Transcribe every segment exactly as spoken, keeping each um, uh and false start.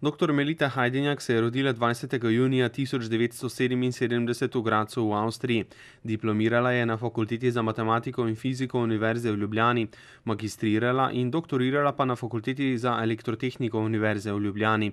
Doktor Melita Hajdinjak se je rodila dvajsetega junija tisoč devetsto sedeminsedemdeset v Gradcu v Avstriji. Diplomirala je na Fakulteti za matematiko in fiziko Univerze v Ljubljani, magistrirala in doktorirala pa na Fakulteti za elektrotehniko Univerze v Ljubljani.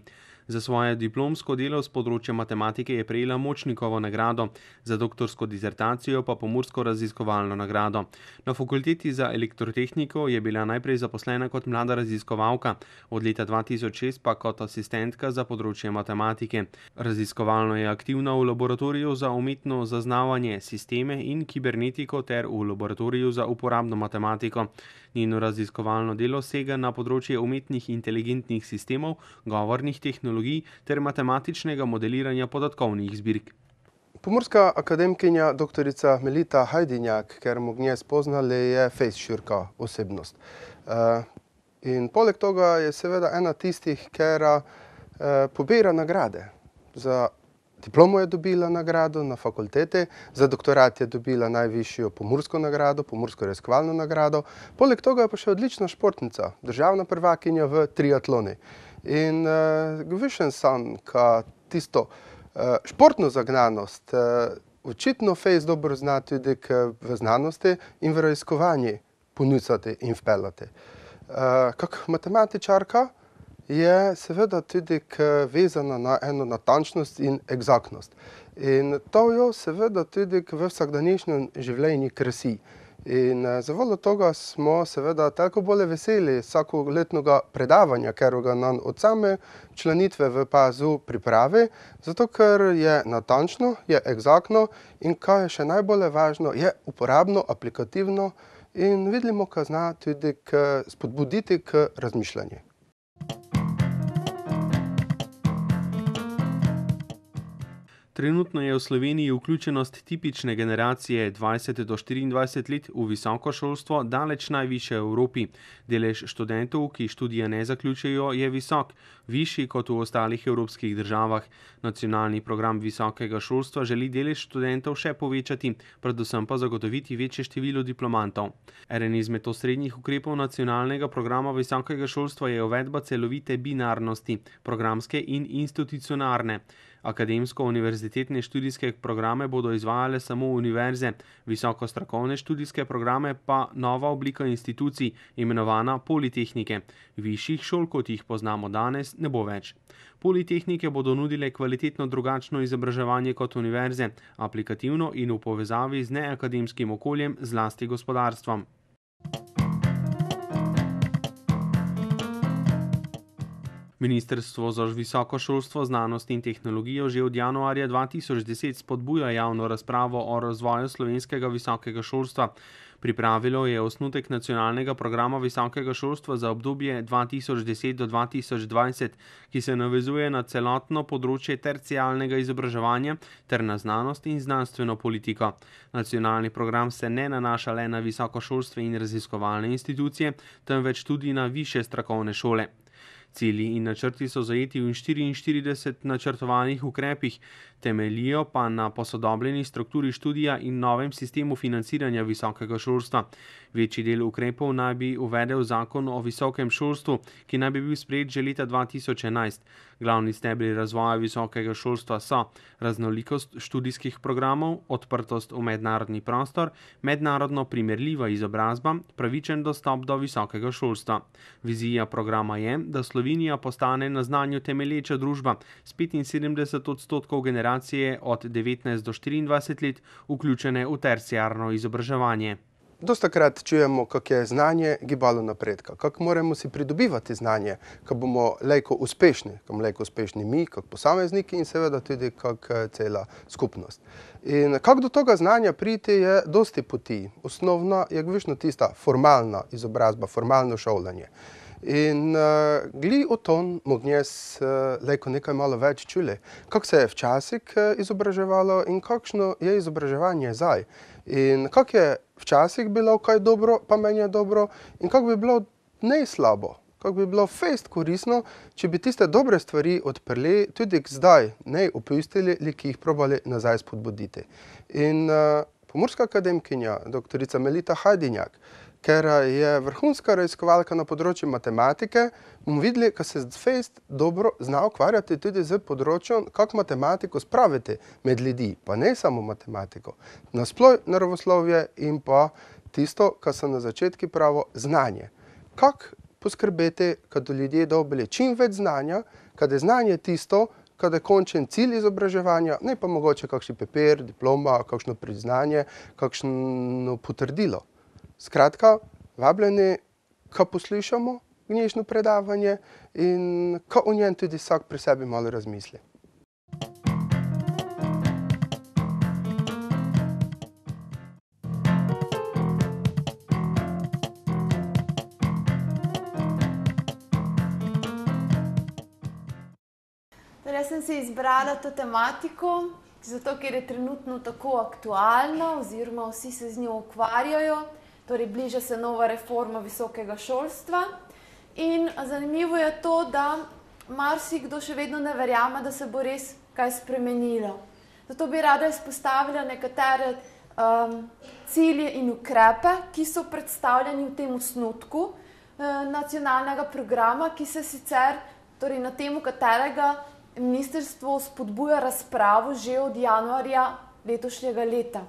Za svoje diplomsko delo z področja matematike je prejela Močnikovo nagrado, za doktorsko disertacijo pa Pomursko raziskovalno nagrado. Na Fakulteti za elektrotehniko je bila najprej zaposlena kot mlada raziskovalka, od leta dva tisoč šest pa kot asistentka za področje matematike. Raziskovalno je aktivna v laboratoriju za umetno zaznavanje, sisteme in kibernetiko ter v laboratoriju za uporabno matematiko. Njeno raziskovalno delo sega na področje umetnih inteligentnih sistemov, govornih tehnologij ter matematičnega modeliranja podatkovnih zbirk. Pomurska akademkinja doktorica Melita Hajdinjak, ker mu gnje spoznali, je fejst široka osebnost. In poleg toga je seveda ena tistih, kera pobira nagrade. Za diplomo je dobila nagrado na fakulteti, za doktorat je dobila najvišjo pomursko nagrado, Pomursko raziskovalno nagrado. Poleg toga je pa še odlična športnica, državna prvakinja v triatloni. In višen sam, ka tisto športno zagnanost očitno fejst dobro zna tudi v znanosti in v raziskovanju ponuditi in vpeljati. Kak matematičarka je seveda tudi vezana na eno natančnost in eksaktnost. In to jo seveda tudi v vsakdanjišnjem življenju krasi. In zavoljo toga smo seveda toliko bolj veseli vsakoletnega predavanja, ker ga nam od same članitve v P A Z-u pripravi, zato ker je natančno, je eksaktno in kaj je še najbolj važno, je uporabno, aplikativno in vidimo, kaj zna tudi spodbuditi k razmišljanju. Trenutno je v Sloveniji vključenost tipične generacije dvajset do štiriindvajset let v visoko šolstvo daleč najvišja v Evropi. Delež študentov, ki študija ne zaključijo, je visok, višji kot v ostalih evropskih državah. Nacionalni program visokega šolstva želi delež študentov še povečati, predvsem pa zagotoviti večje število diplomantov. Eden izmed osrednjih ukrepov nacionalnega programa visokega šolstva je uvedba celovite binarnosti, programske in institucionalne. Akademsko-univerzitetne študijske programe bodo izvajale samo univerze, visoko strokovne študijske programe pa nova oblika institucij, imenovana politehnike. Višjih šol, kot jih poznamo danes, ne bo več. Politehnike bodo nudile kvalitetno drugačno izobraževanje kot univerze, aplikativno in v povezavi z neakademskim okoljem, zlasti gospodarstvom. Ministrstvo za visoko šolstvo, znanost in tehnologijo že od januarja dva tisoč deset spodbuja javno razpravo o razvoju slovenskega visokega šolstva. Pripravilo je osnutek nacionalnega programa visokega šolstva za obdobje dva tisoč deset do dva tisoč dvajset, ki se navezuje na celotno področje terciarnega izobraževanja ter na znanost in znanstveno politiko. Nacionalni program se ne nanaša le na visokošolstvo in raziskovalne institucije, temveč tudi na višje strokovne šole. Cilji in načrti so zajeti v štiriinštirideset načrtovanih ukrepih, temeljijo pa na posodobljeni strukturi študija in novem sistemu financiranja visokega šolstva. Večji del ukrepov naj bi uvedel zakon o visokem šolstvu, ki naj bi bil sprejet že leta dva tisoč enajst. Glavni stebri razvoja visokega šolstva so raznolikost študijskih programov, odprtost v mednarodni prostor, mednarodno primerljiva izobrazba, pravičen dostop do visokega šolstva. Vizija programa je, da Slovenija postane na znanju temelječa družba s petinsedemdeset odstotkov generacije od devetnajst do štiriindvajset let vključene v terciarno izobraževanje. Dostakrat čujemo, kak je znanje gibalo napredka, kak moramo si pridobivati znanje, kak bomo lejko uspešni, kak bomo lejko uspešni mi, kak posamezniki in seveda tudi kak cela skupnost. In kak do toga znanja priti je dosti poti. Osnovna je višno tista formalna izobrazba, formalno šolanje. In uh, gli o ton mognjes uh, lejko nekaj malo več čuli, kak se je včasih izobraževalo in kakšno je izobraževanje zdaj. In kak je včasih bilo kaj dobro, pa meni je dobro, in kak bi bilo ne slabo, kak bi bilo fejst koristno, če bi tiste dobre stvari odprli tudi zdaj, ne opustili, li ki jih probali nazaj spodbuditi. In uh, Pomurska akademkinja, doktorica Melita Hajdinjak, ker je vrhunska raziskovalka na področju matematike, bomo videli, da se fejst dobro zna ukvarjati tudi z področjem, kako matematiko spraviti med ljudi, pa ne samo matematiko, nasploh naravoslovje in pa tisto, kar sem na začetku pravil, znanje. Kako poskrbeti, da do ljudje dobili čim več znanja, kad je znanje tisto, kad je končen cilj izobraževanja, ne pa mogoče kakšen papir, diploma, kakšno priznanje, kakšno potrdilo. Skratka, vabljeni, ko poslušamo dnešno predavanje in ko o njem tudi vsak pri sebi malo razmisli. Jaz sem si izbrala to tematiko, zato ker je trenutno tako aktualna oziroma vsi se z njo ukvarjajo, torej bliža se nova reforma visokega šolstva in zanimivo je to, da marsikdo še vedno ne verjame, da se bo res kaj spremenilo. Zato bi rada izpostavila nekatere um, cilje in ukrepe, ki so predstavljeni v tem osnutku uh, nacionalnega programa, ki se sicer, torej na temu katerega ministrstvo spodbuja razpravo že od januarja letošnjega leta.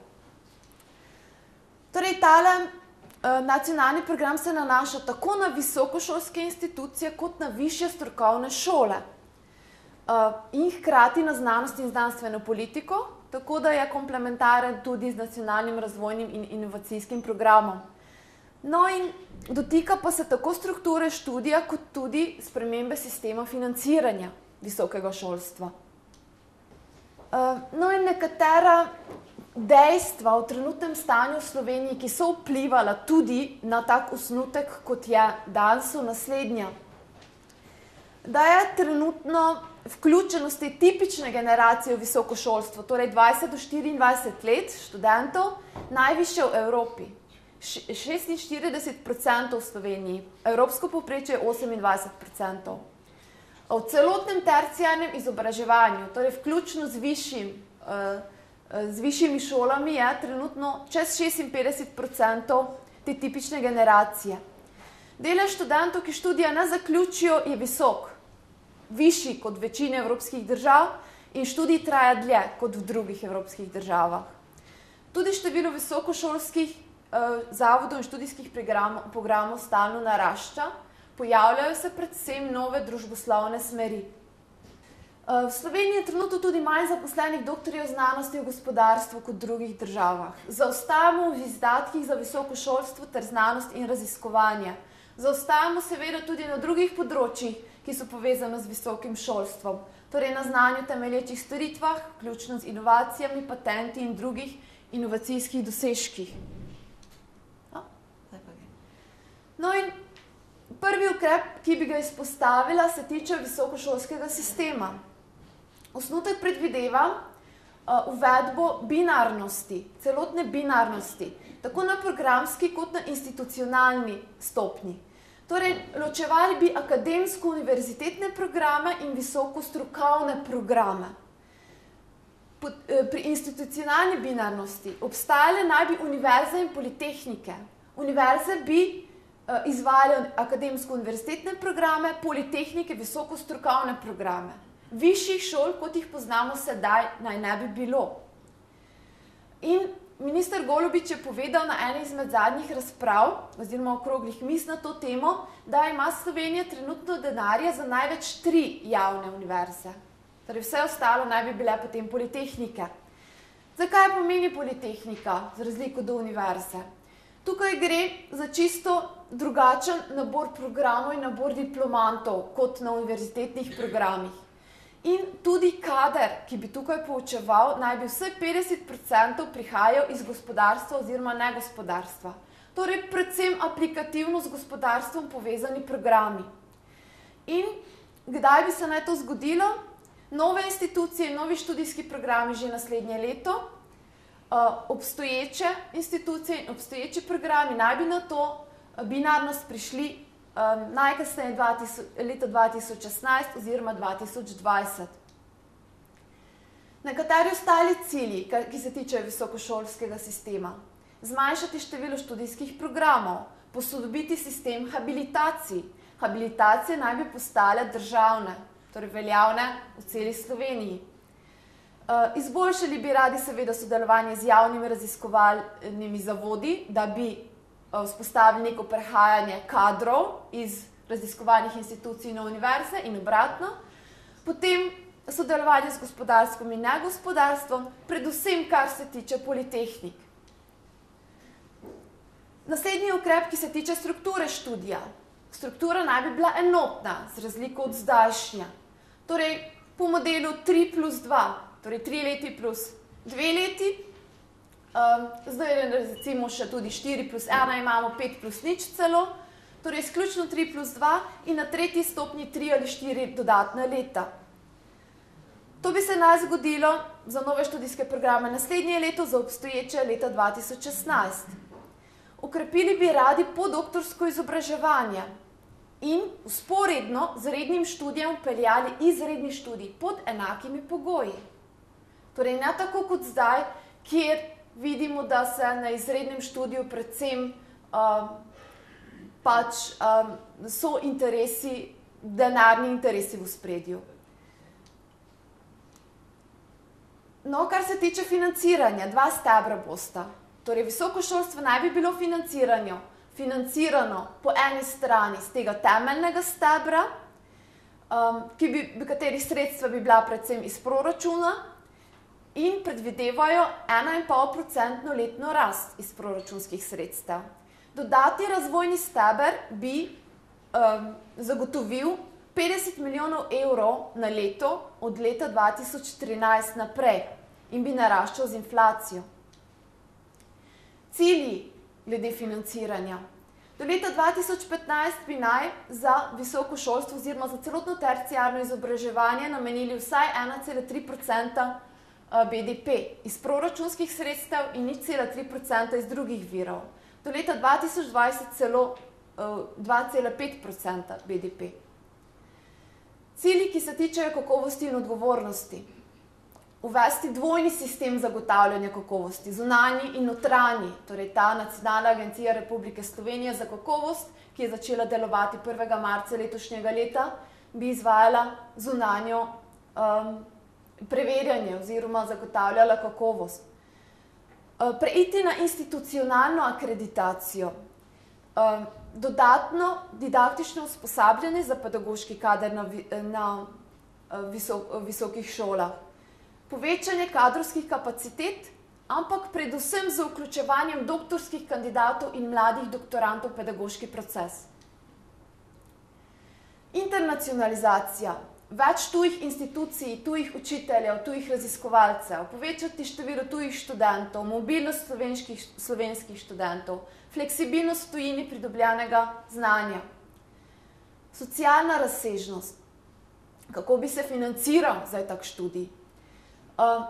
Torej, tale eh, nacionalni program se nanaša tako na visokošolske institucije kot na višje strokovne šole eh, in hkrati na znanost in znanstveno politiko, tako da je komplementaren tudi z nacionalnim razvojnim in inovacijskim programom. No in dotika pa se tako strukture študija kot tudi spremembe sistema financiranja visokega šolstva. No in nekatera dejstva v trenutnem stanju v Sloveniji, ki so vplivala tudi na tak osnutek, kot je danes, so naslednja. Da je trenutno vključenost te tipične generacije v visoko šolstvo, torej dvajset do štiriindvajset let študentov, najvišja v Evropi. šestinštirideset procentov v Sloveniji, evropsko povprečje je osemindvajset procentov. V celotnem terciarnem izobraževanju, torej vključno z, višjim, z višjimi šolami, je trenutno čez šestinpetdeset procentov te tipične generacije. Delež študentov, ki študija ne zaključijo, je visok, višji kot v večini evropskih držav in študij traja dlje kot v drugih evropskih državah. Tudi število visokošolskih eh, zavodov in študijskih programov, programov stalno narašča, pojavljajo se predvsem nove družboslovne smeri. V Sloveniji je trenutno tudi manj zaposlenih doktorjev znanosti v gospodarstvu kot v drugih državah. Zaostajamo v izdatkih za visoko šolstvo ter znanost in raziskovanje. Zaostajamo seveda tudi na drugih področjih, ki so povezane z visokim šolstvom, torej na znanju temelječih storitvah, vključno z inovacijami, patenti in drugih inovacijskih dosežkih. No in prvi ukrep, ki bi ga izpostavila, se tiče visokošolskega sistema. Osnutek predvideva uh, uvedbo binarnosti, celotne binarnosti, tako na programski kot na institucionalni stopnji. Torej, ločevali bi akademsko-univerzitetne programe in visokostrokovne programe. Pod, eh, pri institucionalni binarnosti obstajale naj bi univerze in politehnike. Univerze bi izvajajo akademsko-univerzitetne programe, politehnike, visokostrokovne programe. Višjih šol, kot jih poznamo sedaj, naj ne bi bilo. In minister Golobič je povedal na eni izmed zadnjih razprav, oziroma okroglih miz na to temo, da ima Slovenija trenutno denarja za največ tri javne univerze. Torej vse ostalo naj bi bile potem politehnike. Zakaj pomeni politehnika, z razliko do univerze? Tukaj gre za čisto drugačen nabor programov in nabor diplomantov kot na univerzitetnih programih. In tudi kader, ki bi tukaj poučeval, naj bi vsaj petdeset procentov prihajal iz gospodarstva oziroma negospodarstva. Torej predvsem aplikativno z gospodarstvom povezani programi. In kdaj bi se naj to zgodilo? Nove institucije in novi študijski programi že naslednje leto, Uh, obstoječe institucije in obstoječi programi naj bi na to uh, binarnost prišli um, najkasneje leta dva tisoč šestnajst oziroma dva tisoč dvajset. Nekateri ostali cilji, ki se tičejo visokošolskega sistema. Zmanjšati število študijskih programov, posodobiti sistem habilitacij. Habilitacije naj bi postale državne, torej veljavne v celi Sloveniji. Izboljšali bi radi seveda sodelovanje z javnimi raziskovalnimi zavodi, da bi vzpostavili neko prehajanje kadrov iz raziskovalnih institucij na univerze in obratno. Potem sodelovanje z gospodarstvom in negospodarstvom, predvsem kar se tiče politehnik. Naslednji ukrep, ki se tiče strukture študija. Struktura naj bi bila enotna, z razliko od zdajšnja. Torej, po modelu tri plus dva, torej tri leti plus dve leti, um, zdaj recimo še tudi štiri plus ena imamo, pet plus nič celo, torej izključno tri plus dva in na tretji stopnji tri ali štiri dodatna leta. To bi se naj zgodilo za nove študijske programe naslednje leto, za obstoječe leta dva tisoč šestnajst. Ukrepili bi radi podoktorsko izobraževanje in vzporedno z rednim študijem vpeljali izredni študij pod enakimi pogoji. Torej, ne tako kot zdaj, kjer vidimo, da se na izrednem študiju predvsem um, pač um, so interesi, denarni interesi v ospredju. No, kar se tiče financiranja, dva stebra bosta. Torej, visoko šolstvo naj bi bilo financirano, financirano po eni strani z tega temeljnega stebra, um, ki bi, katerih sredstva bi bila predvsem iz proračuna in predvidevajo ena in pol procentno letno rast iz proračunskih sredstev. Dodatni razvojni steber bi um, zagotovil petdeset milijonov evrov na leto od leta dva tisoč trinajst naprej in bi naraščal z inflacijo. Cilji glede financiranja. Do leta dva tisoč petnajst bi naj za visoko šolstvo oziroma za celotno terciarno izobraževanje namenili vsaj ena cela tri procenta B D P iz proračunskih sredstev in nič cela tri procenta iz drugih virov. Do leta dva tisoč dvajset celo dva cela pet procenta B D P. Cilji, ki se tičejo kakovosti in odgovornosti. Uvesti dvojni sistem zagotavljanja kakovosti, zunanji in notranji, torej ta Nacionalna agencija Republike Slovenije za kakovost, ki je začela delovati prvega marca letošnjega leta, bi izvajala zunanjo um, preverjanje oziroma zagotavljala kakovost. Uh, preiti na institucionalno akreditacijo. Um, dodatno didaktično usposabljanje za pedagoški kader na, na uh, visok, visokih šolah. Povečanje kadrovskih kapacitet, ampak predvsem z vključevanjem doktorskih kandidatov in mladih doktorantov v pedagoški proces. Internacionalizacija. Več tujih institucij, tujih učiteljev, tujih raziskovalcev, povečati število tujih študentov, mobilnost slovenskih, slovenskih študentov, fleksibilnost v tujini pridobljenega znanja. Socialna razsežnost. Kako bi se financiral zdaj tak študij? Uh,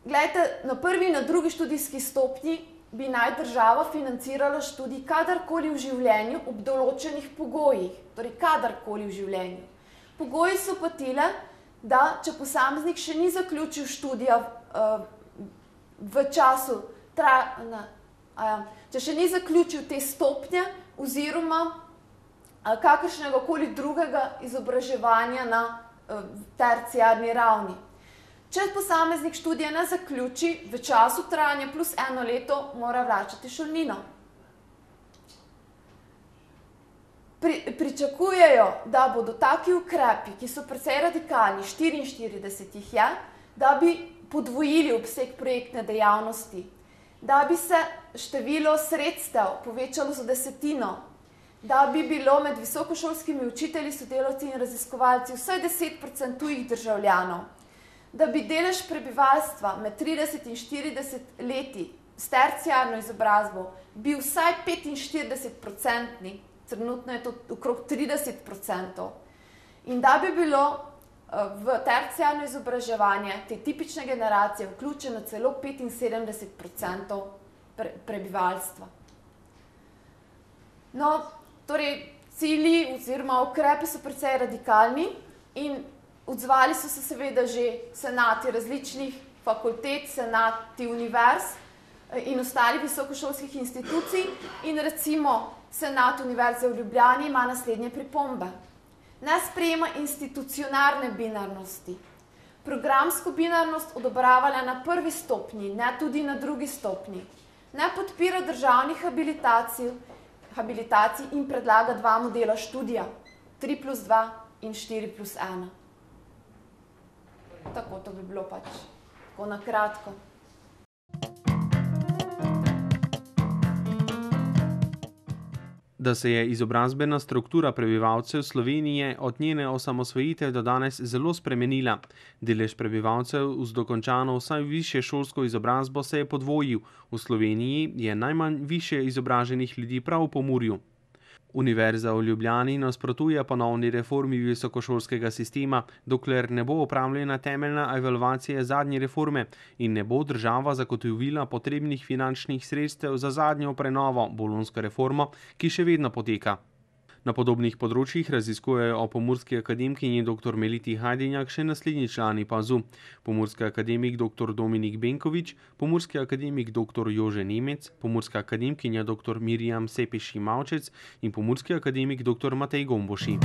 Glejte, na prvi in na drugi študijski stopnji bi naj država financirala študij kadarkoli v življenju ob določenih pogojih, torej kadarkoli v življenju. Pogoji so pa tile, da če posameznik še ni zaključil študija uh, v času, tra, na, uh, če še ni zaključil te stopnje oziroma uh, kakršnega koli drugega izobraževanja na uh, terciarni ravni. Če posameznik študija ne zaključi, v času trajanja plus eno leto mora vračati šolnino. Pri, pričakujejo, da bodo taki ukrepi, ki so precej radikalni, štiriinštirideset jih je, da bi podvojili obseg projektne dejavnosti, da bi se število sredstev povečalo za desetino, da bi bilo med visokošolskimi učitelji, sodelavci in raziskovalci vsaj deset procentov tujih državljanov, da bi delež prebivalstva med trideset in štirideset leti s terciarno izobrazbo bil vsaj petinštirideset procentni, trenutno je to okrog trideset procentov, in da bi bilo v terciarno izobraževanje te tipične generacije vključeno celo petinsedemdeset procentov pre, prebivalstva. No, torej, cilji oziroma ukrepi so precej radikalni in odzvali so se seveda že senati različnih fakultet, senati univerz in ostalih visokošolskih institucij in recimo Senat Univerze v Ljubljani ima naslednje pripombe. Ne sprejema institucionalne binarnosti. Programsko binarnost odobravala na prvi stopnji, ne tudi na drugi stopnji. Ne podpira državnih habilitacij, habilitacij in predlaga dva modela študija, tri plus dva in štiri plus ena. Tako to bi bilo pač, tako na kratko. Da se je izobrazbena struktura prebivalcev Slovenije od njene osamosvojitve do danes zelo spremenila. Delež prebivalcev z dokončano vsaj višješolsko izobrazbo se je podvojil. V Sloveniji je najmanj višje izobraženih ljudi prav v Pomurju. Univerza v Ljubljani nasprotuje ponovni reformi visokošolskega sistema, dokler ne bo opravljena temeljna evalvacija zadnje reforme in ne bo država zagotovila potrebnih finančnih sredstev za zadnjo prenovo, bolonjsko reformo, ki še vedno poteka. Na podobnih področjih raziskujejo o pomurski akademkinji doktor Meliti Hajdinjak še naslednji člani PAZU. Pomurski akademik doktor Dominik Benkovič, pomurski akademik doktor Jože Nemec, pomurska akademkinja doktor Mirjam Sepeši Mavčec in pomurski akademik doktor Matej Gomboši.